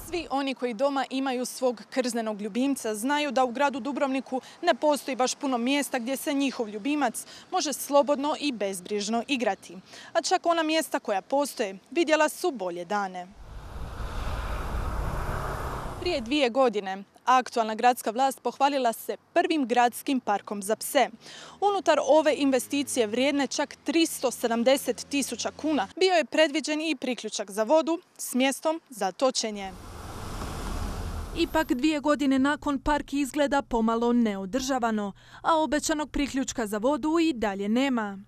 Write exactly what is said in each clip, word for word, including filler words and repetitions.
Svi oni koji doma imaju svog krznenog ljubimca znaju da u gradu Dubrovniku ne postoji baš puno mjesta gdje se njihov ljubimac može slobodno i bezbrižno igrati. A čak ona mjesta koja postoje vidjela su bolje dane. Prije dvije godine aktualna gradska vlast pohvalila se prvim gradskim parkom za pse. Unutar ove investicije vrijedne čak tristo sedamdeset tisuća kuna bio je predviđen i priključak za vodu s mjestom za točenje. Ipak dvije godine nakon park izgleda pomalo neodržavano, a obećanog priključka za vodu i dalje nema.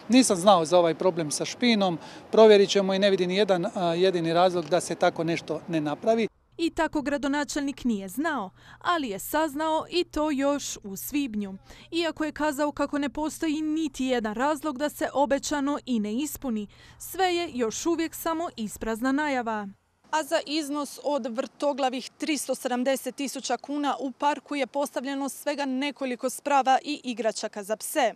Nisam znao za ovaj problem sa špinom, provjerit ćemo i ne vidim jedan jedini razlog da se tako nešto ne napravi. I tako gradonačelnik nije znao, ali je saznao i to još u svibnju. Iako je kazao kako ne postoji niti jedan razlog da se obećano i ne ispuni, sve je još uvijek samo isprazna najava. A za iznos od vrtoglavih tristo sedamdeset tisuća kuna u parku je postavljeno svega nekoliko sprava i igračaka za pse,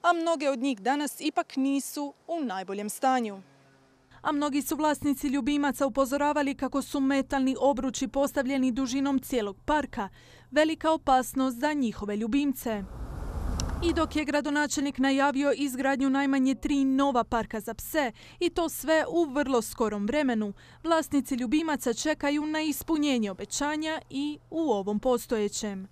a mnoge od njih danas ipak nisu u najboljem stanju. A mnogi su vlasnici ljubimaca upozoravali kako su metalni obruči postavljeni dužinom cijelog parka velika opasnost za njihove ljubimce. I dok je gradonačelnik najavio izgradnju najmanje tri nova parka za pse, i to sve u vrlo skorom vremenu, vlasnici ljubimaca čekaju na ispunjenje obećanja i u ovom postojećem.